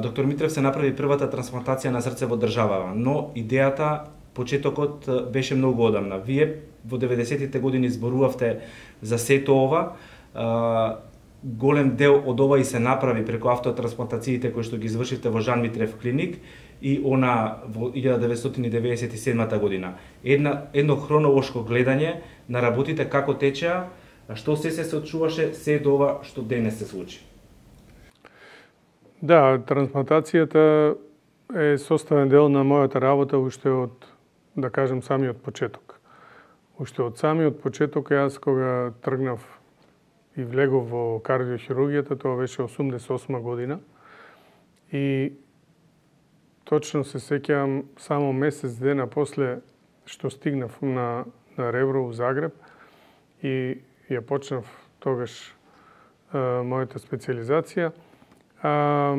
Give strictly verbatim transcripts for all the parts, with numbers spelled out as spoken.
доктор Митрев се направи првата трансплантација на срце во државава, но идејата, почетокот беше многу одамна. Вие во деветдесетите години зборувавте за сето ова, голем дел од ова и се направи преку автотрансплантациите кои што ги извршивте во Жан Митрев клиник и она во илјада деветстотини деветдесет и седма година. Една, едно хронолошко гледање на работите како течеа, што се се случуваше, се до ова што денес се случи. Да, трансплантацијата е составен дел на мојата работа уште од, да кажем, самиот почеток. Уште од самиот почеток, јас кога тргнав и влегов во кардиохирургијата, тоа беше осумдесет и осма година. И точно се сеќавам, само месец дена после што стигнав на, на Ребро у Загреб и ја почнав тогаш а, мојата специализација. А,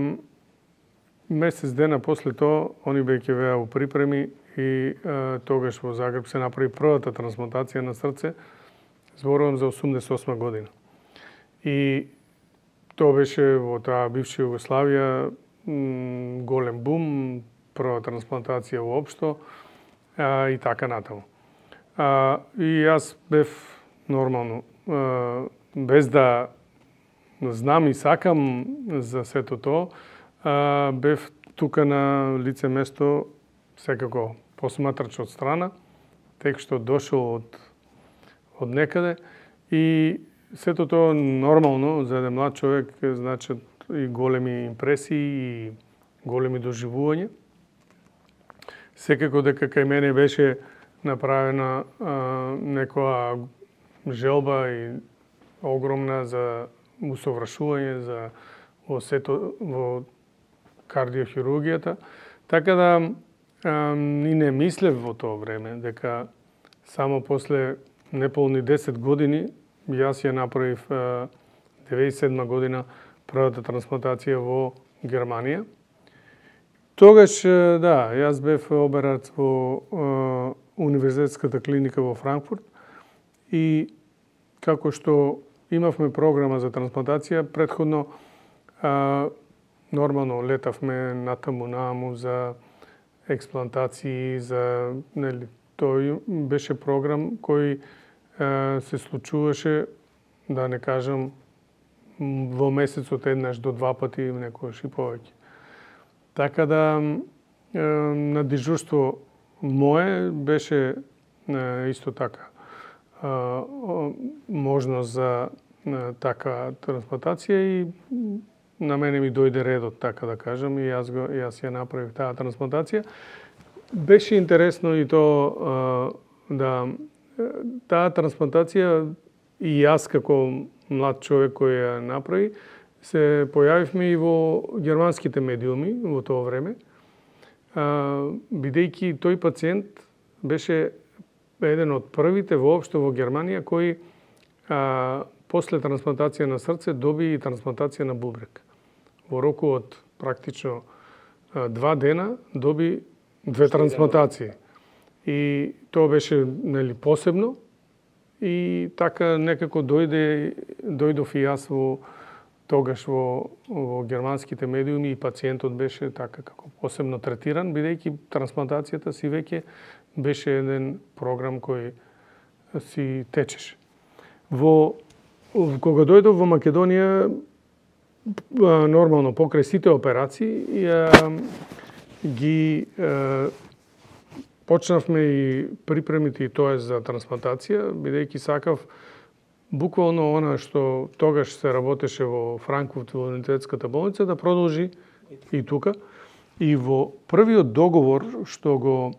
месец дена после тоа, они беќе беа у припреми и а, тогаш во Загреб се направи првата трансплантација на срце. Зборувам за осумдесет и осма година. И тоа беше во таа бивша Југославија голем бум, прва трансплантација воопшто а, и така натаму. А, и јас бев нормално, а, без да знам и сакам за сето тоа, а, бев тука на лице место секако посматрач од страна, тек што дошол од, од некаде и сето тоа нормално за еден млад човек значат и големи импресии и големи доживувања. Секако дека кај мене беше направена а, некоја желба и огромна за усовршување за во сето во кардиохирургијата, така да а, и не мислев во тоа време дека само после неполни десет години јас ја направив а, деветдесет и седма година првата трансплантација во Германија. Тогаш, да, јас бев оберац во а, универзитетската клиника во Франкфурт и како што имавме програма за трансплантација, претходно а, нормално летавме натаму наму за експлантации, за нели, тој беше програм кој а, се случуваше, да не кажам, во месецот еднаш до два пати, некојаш и повеќе. Така да на дежурство мое беше исто така можност за така трансплантација и на мене ми дојде редот, така да кажам, и јас, го, јас ја направив таа трансплантација. Беше интересно и то да таа трансплантација и јас како млад човек кој ја направи, се појавивме и во германските медиуми во тоа време, бидејќи тој пациент беше еден од првите воопшто во Германија кој а, после трансплантација на срце доби и трансплантација на бубрек. Во року од практично а, два дена доби две трансплантации. И тоа беше нели посебно и така некако дојде дојдов и јас во тогаш во, во германските медиуми и пациентот беше така како посебно третиран, бидејќи трансплантацијата си веќе беше еден програм кој си течеше. Во, кога дојдов во Македонија, нормално покрај сите операции, ги почнавме и припремите и тоа за трансплантација, бидејќи сакав буквално она што тогаш се работеше во Франкфурт во универзитетската болница да продолжи и тука. И во првиот договор што го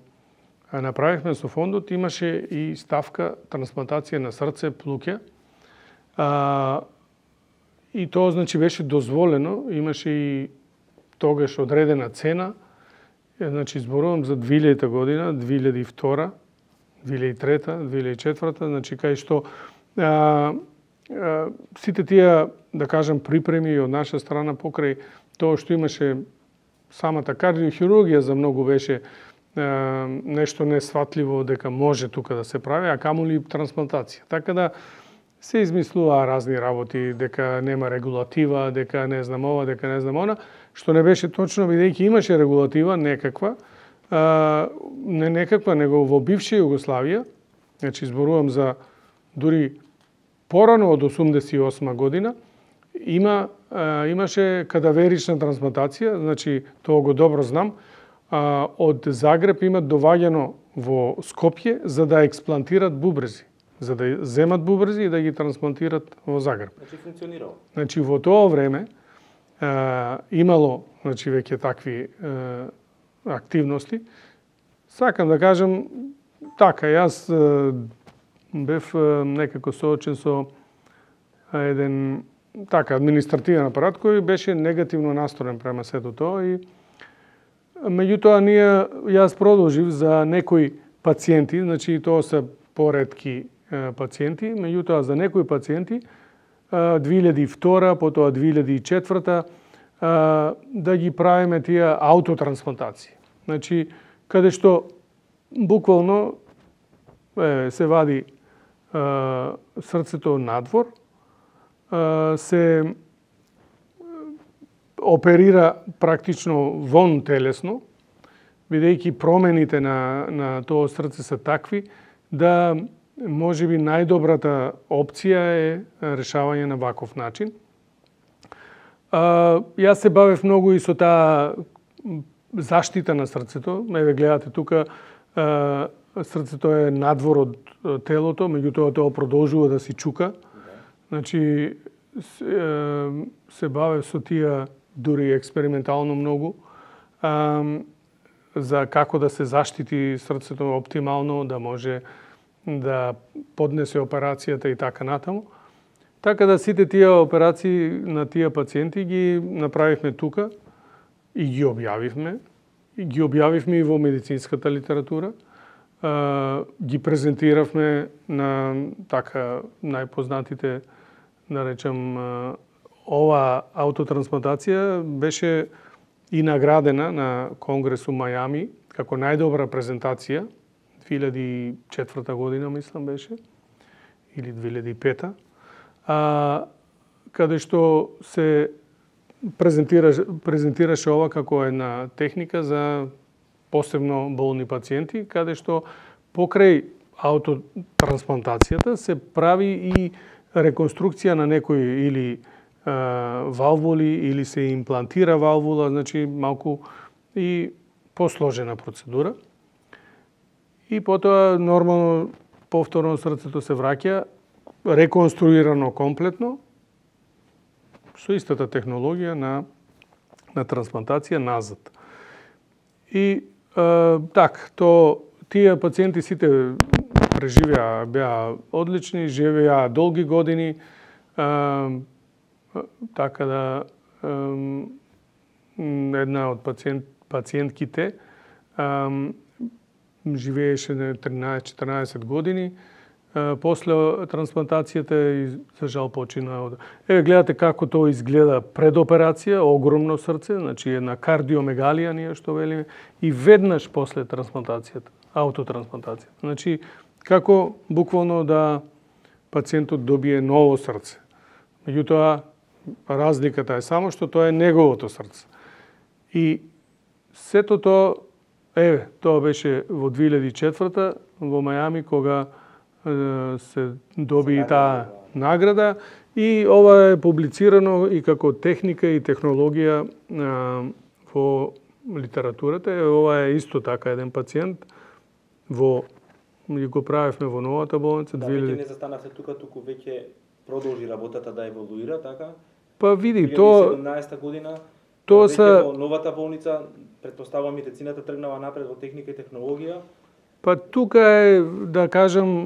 направивме со фондот имаше и ставка трансплантација на срце, плуќа. А, и тоа значи беше дозволено, имаше и тогаш одредена цена. Значи зборувам за две илјадна година, две илјади и втора, две илјади и трета, две илјади и четврта, значи кај што а, а, сите тие, да кажам, припреми од наша страна покрај тоа што имаше самата кардиохирургија за многу беше а, нешто несватливо дека може тука да се прави, а камоли трансплантација. Така да се измислуваа разни работи, дека нема регулатива, дека не знам ова, дека не знам она. што не беше точно, бидејќи имаше регулатива некаква, а, не некаква, него во бивша Југославија, значи зборувам за дури порано од осумдесет и осма година, има, а, имаше кадаверична трансплантација, значи тоа го добро знам, а, од Загреб имат доваѓано во Скопје за да експлантират бубрези, за да земат бубрези и да ги трансплантират во Загреб. Значи функционирало. Значи во тоа време а, имало, значи веќе такви а, активности. Сакам да кажам така, јас а, бев а, некако соочен со еден така административен апарат кој беше негативно настроен према сето тоа и меѓутоа ние јас продолжив за некои пациенти, значи тоа се поретки е, пациенти, меѓутоа за некои пациенти две илјади и втора, потоа две илјади и четврта да ги правиме тие аутотрансплантации. Значи каде што буквално е, се вади е, срцето надвор, е, се оперира практично вон телесно, бидејќи промените на, на тоа срце се такви, да можеби најдобрата опција е решавање на ваков начин. А, јас се бавев многу и со таа заштита на срцето. Еве гледате тука, а, срцето е надвор од телото, меѓутоа тоа продолжува да си чука. Значи се, се бавев со тие дури експериментално многу, а, за како да се заштити срцето оптимално, да може да поднесе операцијата и така натаму. Така да сите тие операции на тие пациенти ги направивме тука и ги објавивме. И ги објавивме и во медицинската литература. А, ги презентиравме на така најпознатите, да речем, ова аутотрансплантација беше и наградена на Конгрес у Мајами како најдобра презентација, две илјади и четврта година, мислам беше, или две илјади и пета, а, каде што се презентираше, презентираше ова како една техника за посебно болни пациенти, каде што покрај аутотрансплантацијата се прави и реконструкција на некои или а, валвули, или се имплантира валвула, значи малку и посложена процедура. И потоа нормално повторно срцето се враќа реконструирано комплетно со истата технологија на на трансплантација назад. И е, так, то тие пациенти сите преживеа, беа одлични, живеа долги години, е, така да е, една од пациент, пациентките е, живееше на тринаесет-четиринаесет години, после трансплантацијата и за жал почина. Еве гледате како тоа изгледа пред операција, огромно срце, значи една кардиомегалија ние што велиме, и веднаш после трансплантацијата, аутотрансплантацијата. Значи како буквално да пациентот добие ново срце. Меѓутоа разликата е само што тоа е неговото срце. И сето тоа, еве, тоа беше во две илјади и четврта во Мајами кога се доби и таа награда и ова е публицирано и како техника и технологија а, во литературата. Ова е исто така еден пациент во и го правевме во новата болница. Да, веќе не застанавте тука, туку веќе продолжи работата да еволуира, така? Па види, тоа тоа две илјади и седумнаесета година тоа веќе са во новата болница, претпоставувам медицината тргнала напред во техника и технологија. Па тука е, да кажам,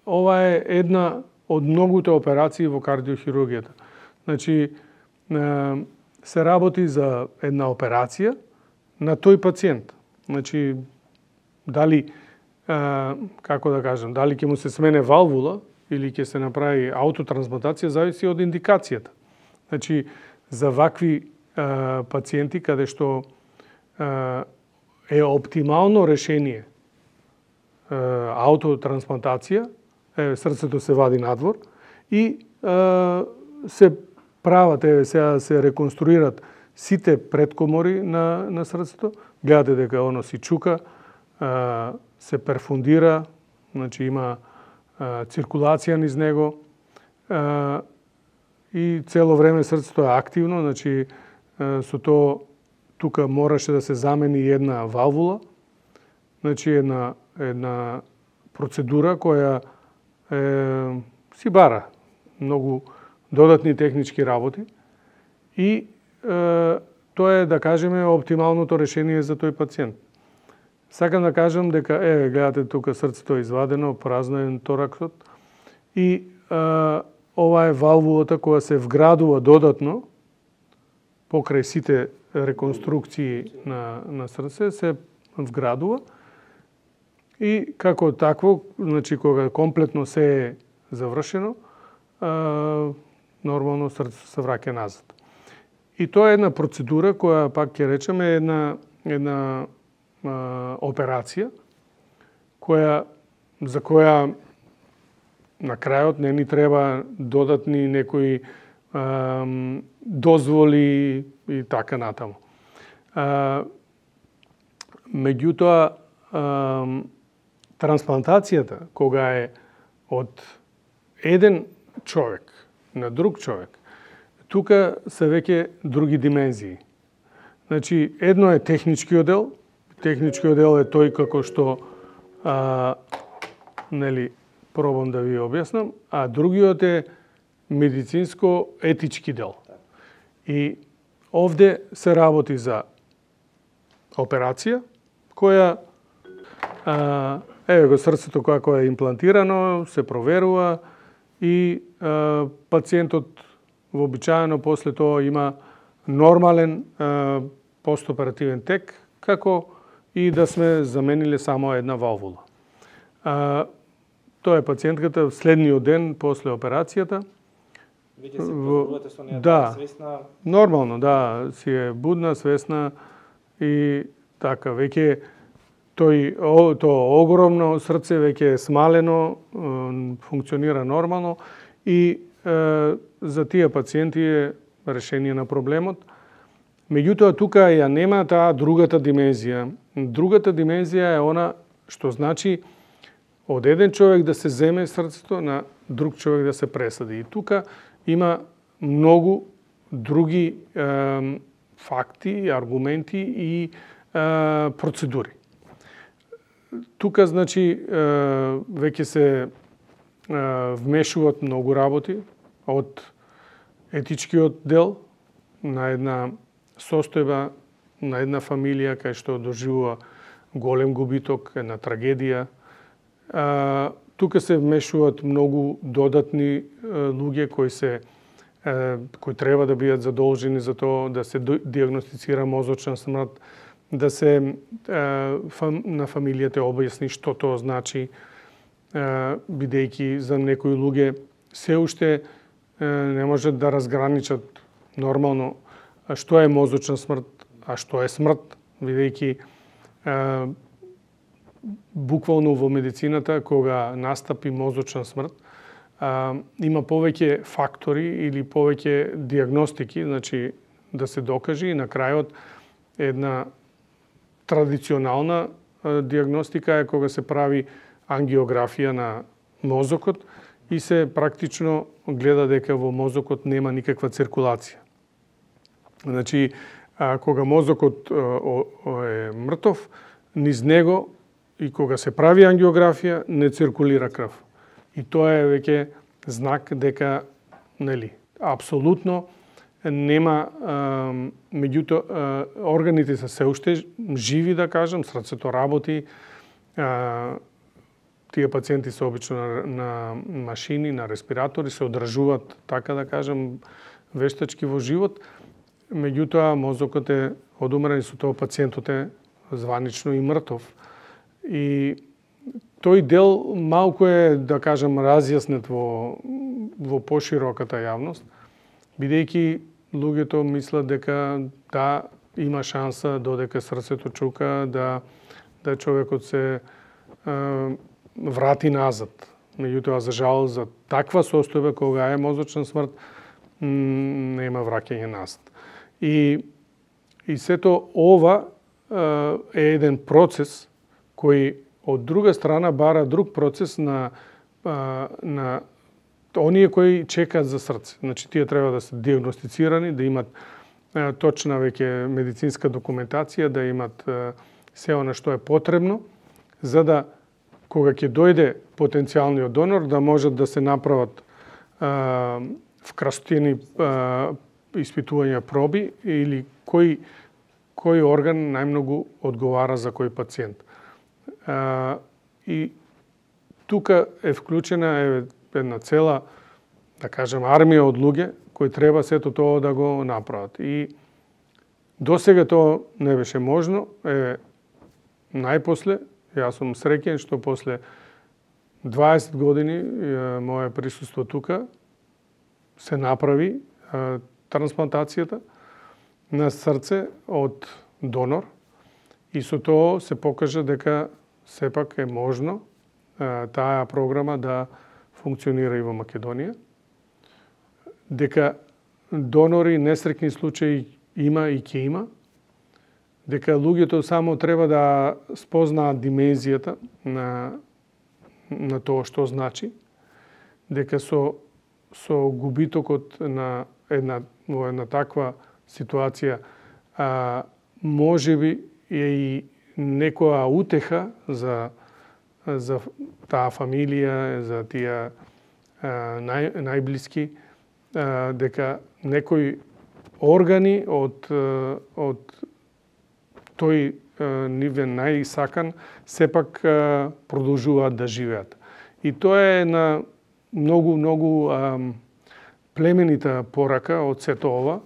ова е една од многуте операции во кардиохирургијата. Значи, се работи за една операција на тој пациент. Значи, дали, како да кажам, дали ќе му се смене валвула или ќе се направи аутотрансплантација, зависи од индикацијата. Значи, за вакви пациенти каде што е оптимално решение аутотрансплантација, срцето се вади надвор и е, се прават, еве сега се реконструират сите предкомори на, на срцето, гледате дека оно си чука, а, се перфундира, значи има а, циркулација низ него а, и цело време срцето е активно, значи а, со тоа тука мораше да се замени една валвула, значи една, една процедура која е, си бара многу додатни технички работи и е, тоа е, да кажеме, оптималното решение за тој пациент. Сакам да кажам дека, е, гледате тука срцето е извадено, празно е тораксот и е, ова е валвулата која се вградува додатно покрај сите реконструкции на, на срце, се вградува и како такво, значи кога комплетно се е завршено, а, нормално срцето се враќа назад. И тоа е една процедура која, пак ќе речеме, е една, една а, операција која, за која на крајот не ни треба додатни некои а, дозволи и така натаму. А, меѓутоа, а, трансплантацијата, кога е од еден човек на друг човек, тука се веќе други димензии. Значи, едно е техничкиот дел. Техничкиот дел е тој како што а, нели, пробам да ви објаснам, а другиот е медицинско-етички дел. И овде се работи за операција, која а, еве го срцето како е имплантирано, се проверува и а, пациентот вообичаено после тоа има нормален а, постоперативен тек, како и да сме замениле само една валвула. А, тоа е пациентката следниот ден после операцијата. Веќе се позорувате со неја, да, свесна? Нормално, да, си е будна, свесна и така, веќе тој, тоа огромно срце веќе е смалено, функционира нормално и е, за тие пациенти е решение на проблемот. Меѓутоа, тука ја нема таа другата димензија. Другата димензија е она што значи од еден човек да се земе срцето на друг човек да се пресади. И тука има многу други е, факти, аргументи и е, процедури. Тука, значи, е, веќе се е, вмешуваат многу работи од етичкиот дел на една состојба, на една фамилија кај што доживува голем губиток, една трагедија. А, тука се вмешуваат многу додатни е, луѓе кои се е, кои треба да бидат задолжени за тоа да се диагностицира мозочна смрт, да се е, фам, на фамилијата објасни што тоа значи, е, бидејќи за некои луѓе се уште е, не можат да разграничат нормално што е мозочна смрт, а што е смрт, бидејќи е, буквално во медицината, кога настапи мозочна смрт, а, има повеќе фактори или повеќе диагностики, значи да се докаже и на крајот една традиционална а, диагностика е кога се прави ангиографија на мозокот и се практично гледа дека во мозокот нема никаква циркулација. Значи, а, кога мозокот а, о, о, е мртов, низ него и кога се прави ангиографија, не циркулира крв. И тоа е веќе знак дека, нели, апсолутно нема, меѓутоа, органите се се уште живи, да кажам, срцето работи, а, тие пациенти се обично на, на машини, на респиратори, се одржуваат, така да кажам, вештачки во живот, меѓутоа мозокот е одумрен и со тоа пациентот е званично и мртов. И тој дел малку е, да кажам, разјаснет во, во пошироката јавност, бидејќи луѓето мислат дека да, има шанса додека срцето чука, да, да човекот се е, врати назад. Меѓутоа, за жал, за таква состојба кога е мозочна смрт, нема враќање назад. И И сето ова е еден процес кој од друга страна бара друг процес на на оние кои чекаат за срце. Значи тие треба да се диагностицирани, да имат точна веќе медицинска документација, да имат се она што е потребно, за да кога ќе дојде потенцијалниот донор да можат да се направат вкрастени испитувања проби или кој кој орган најмногу одговара за кој пациент. А, и тука е вклучена е една цела, да кажем, армија од луѓе кои треба сето тоа да го направат. И досега тоа не беше можно. Е, најпосле, јас сум среќен што после дваесет години е, моје присуство тука се направи е, трансплантацијата на срце од донор и со тоа се покажа дека сепак е можно е, таа програма да функционира и во Македонија, дека донори несреќни случаи има и ќе има, дека луѓето само треба да спознаат димензијата на на тоа што значи, дека со со губитокот на една во една таква ситуација а, можеби е и некоја утеха за за таа фамилија, за тие нај, најблиски, а, дека некои органи од од тој нивен најсакан сепак продолжуваат да живеат. И тоа е на многу многу а, племенита порака од сето ова,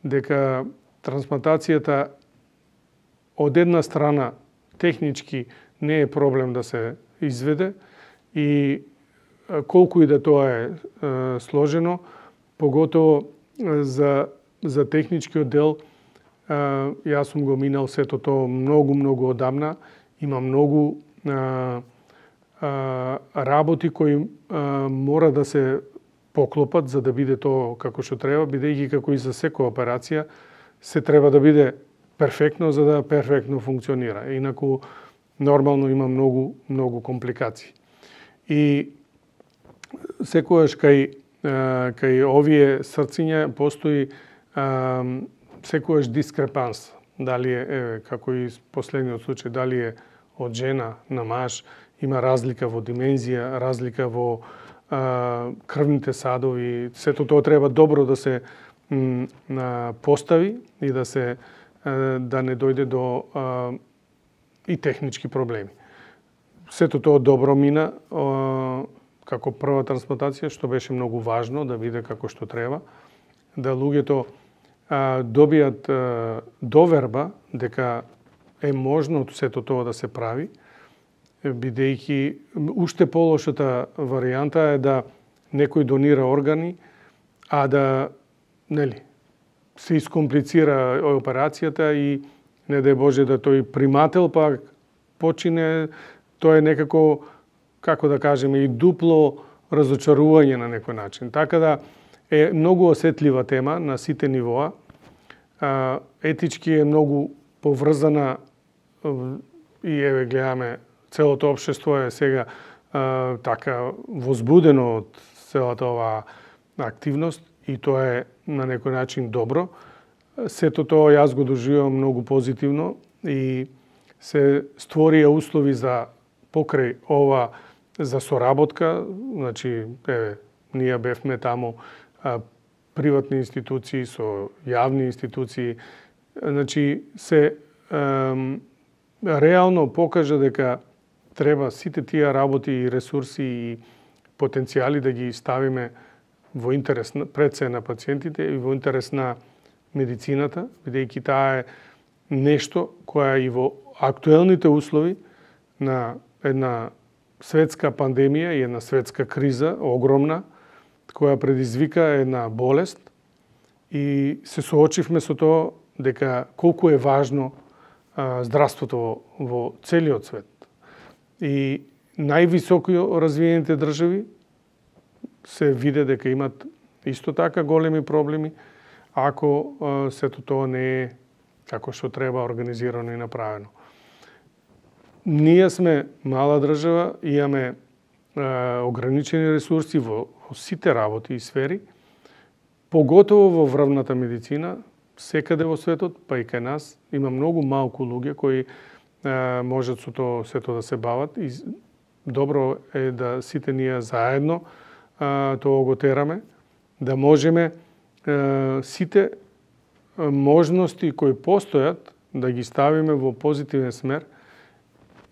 дека трансплантацијата од една страна технички не е проблем да се изведе и колку и да тоа е, е сложено, поготово за за техничкиот дел, е, јас сум го минал сето тоа многу многу одамна, има многу е, е, работи кои е, мора да се поклопат за да биде тоа како што треба, бидејќи како и за секоја операција се треба да биде перфектно за да перфектно функционира. Инаку нормално има многу многу компликации. И секогаш кај кај овие срциња постои а, секогаш дискрепанс. Дали е, е како и последниот случај, дали е од жена на маж, има разлика во димензија, разлика во а, крвните садови. Сето тоа треба добро да се м, а, постави и да се а, да не дојде до а, и технички проблеми. Сето тоа добро мина а, како прва трансплантација, што беше многу важно да биде како што треба, да луѓето а, добијат а, доверба дека е можно сето тоа да се прави, бидејќи уште полошата варијанта е да некој донира органи, а да нели се искомплицира операцијата и не дај Боже да тој примател пак почине, тоа е некако, како да кажеме, и дупло разочарување на некој начин. Така да е многу осетлива тема на сите нивоа. Етички е многу поврзана и еве гледаме целото општество е сега а, така возбудено од целата оваа активност и тоа е на некој начин добро. Сето тоа јас го доживувам многу позитивно и се створија услови за покрај ова за соработка, значи еве ние бевме таму а, приватни институции со јавни институции, значи се ем, реално покажа дека треба сите тие работи и ресурси и потенцијали да ги ставиме во интерес пред се на пациентите и во интерес на медицината, бидејќи таа е нешто која и во актуелните услови на една светска пандемија и една светска криза, огромна, која предизвика една болест и се соочивме со тоа дека колку е важно а, здравството во, во целиот свет. И највисоко развиените држави се виде дека имат исто така големи проблеми, ако а, сето тоа не е како што треба, организирано и направено. Ние сме мала држава, имаме е, ограничени ресурси во, во сите работи и сфери, поготово во врвната медицина, секаде во светот, па и кај нас, има многу малку луѓе кои е, можат со тоа сето да се бават и добро е да сите ние заедно е, тоа го тераме, да можеме е, сите можности кои постојат да ги ставиме во позитивен смер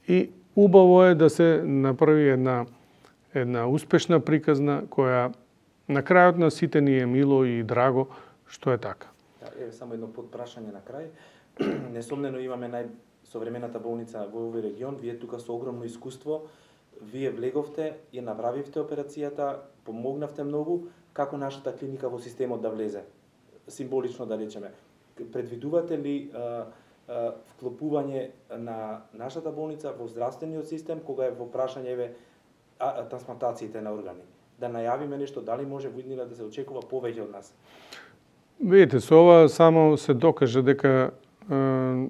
и убаво е да се направи една една успешна приказна која на крајот на сите ни е мило и драго што е така. Да, еве само едно подпрашање на крај. Несомнено имаме најсовремената болница во овој регион, вие тука со огромно искуство, вие влеговте, ја направивте операцијата, помогнавте многу, како нашата клиника во системот да влезе? Символично да речеме. Предвидувате ли а, а, вклопување на нашата болница во здравствениот систем кога е во прашање еве а, трансплантациите на органи? Да најавиме нешто, дали може во иднина да се очекува повеќе од нас? Видите, со ова само се докаже дека е,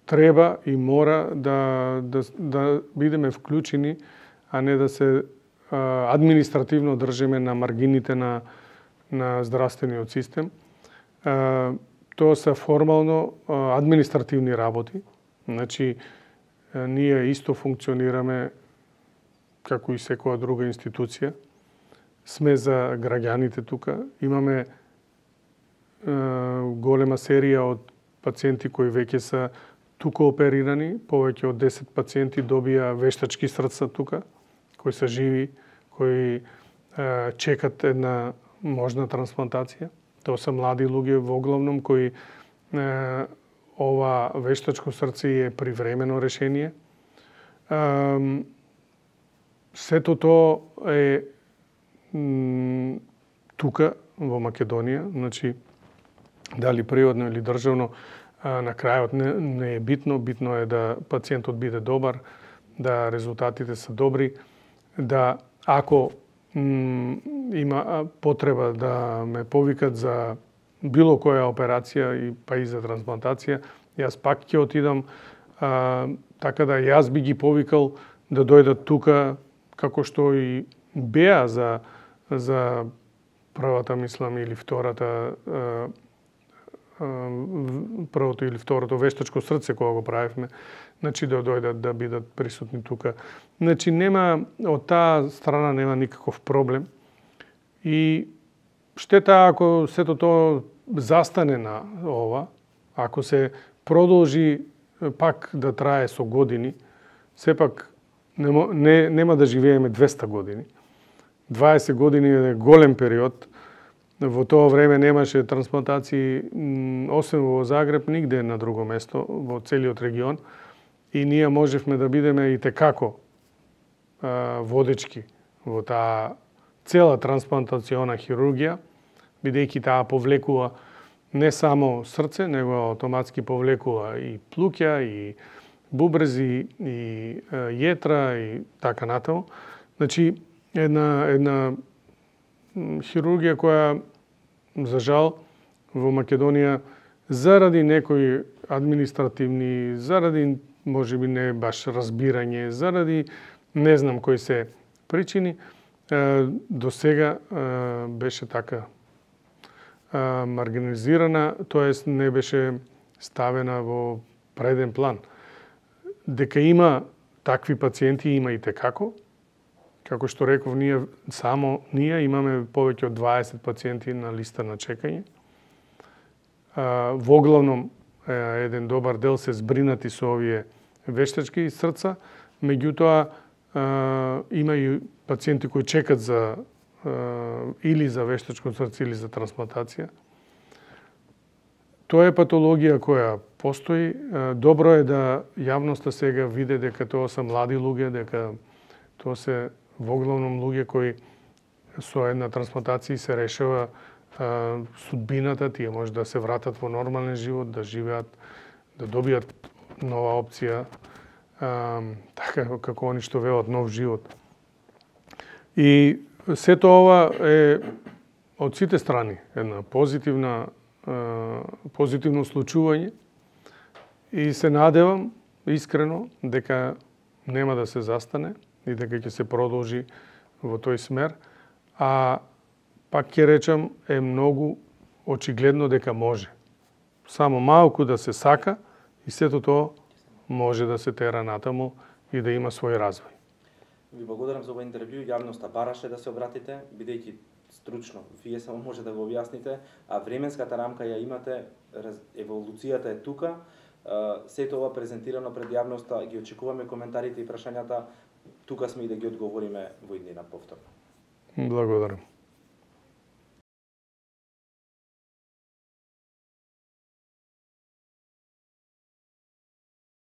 треба и мора да, да, да бидеме вклучени, а не да се е, административно држиме на маргините на, на здравствениот систем. Е, тоа се формално е, административни работи. Значи, е, ние исто функционираме како и секоја друга институција. Сме за граѓаните тука. Имаме голема серија од пациенти кои веќе се тука оперирани, повеќе од десет пациенти добија вештачки срца тука, кои се живи, кои е, чекат една можна трансплантација. Тоа се млади луѓе во главном кои е, ова вештачко срце е привремено решение. Е, сето тоа е м, тука во Македонија, значи дали приватно или државно, на крајот не, не е битно, битно е да пациентот биде добар, да резултатите се добри, да ако м, има потреба да ме повикат за било која операција и па и за трансплантација, јас пак ќе отидам, а, така да јас би ги повикал да дојдат тука, како што и беа за за првата, мислам, или втората првото или второто вештачко срце кога го правевме, значи да дојдат да бидат присутни тука. Значи нема од таа страна нема никаков проблем. И штета ако сето тоа застане на ова, ако се продолжи пак да трае со години, сепак нема, не, нема да живееме двеста години. дваесет години е голем период. Во тоа време немаше трансплантации, освен во Загреб, нигде на друго место, во целиот регион. И ние можевме да бидеме и текако а, водечки во таа цела трансплантациона хирургија, бидејќи таа повлекува не само срце, него автоматски повлекува и плуќа, и бубрези, и а, јетра, и така натаму. Значи, една, една хирургија која, за жал, во Македонија, заради некои административни, заради, можеби не баш разбирање, заради не знам кои се причини, до сега беше така маргинализирана, тоест не беше ставена во преден план. Дека има такви пациенти, има и текако. Како што реков, ние само ние имаме повеќе од дваесет пациенти на листа на чекање. Во главном еден добар дел се збринати со овие вештачки срца, меѓутоа има и пациенти кои чекат за или за вештачко срце или за трансплантација. Тоа е патологија која постои. Добро е да јавноста сега види дека тоа се млади луѓе, дека тоа се во главном луѓе кои со една трансплантација се решава а, судбината, тие може да се вратат во нормален живот, да живеат, да добијат нова опција, а, така како они што велат нов живот. И сето ова е од сите страни една позитивна а, позитивно случување. И се надевам искрено дека нема да се застане и дека ќе се продолжи во тој смер, а пак ќе речам е многу очигледно дека може. Само малку да се сака и сето тоа може да се тера натаму и да има свој развој. Ви благодарам за овој интервју, јавноста бараше да се обратите, бидејќи стручно, вие само може да го објасните, а временската рамка ја имате, еволуцијата е тука, сето ова презентирано пред јавноста, ги очекуваме коментарите и прашањата, тука сме и да ги одговориме во иднина повторно. Благодарам.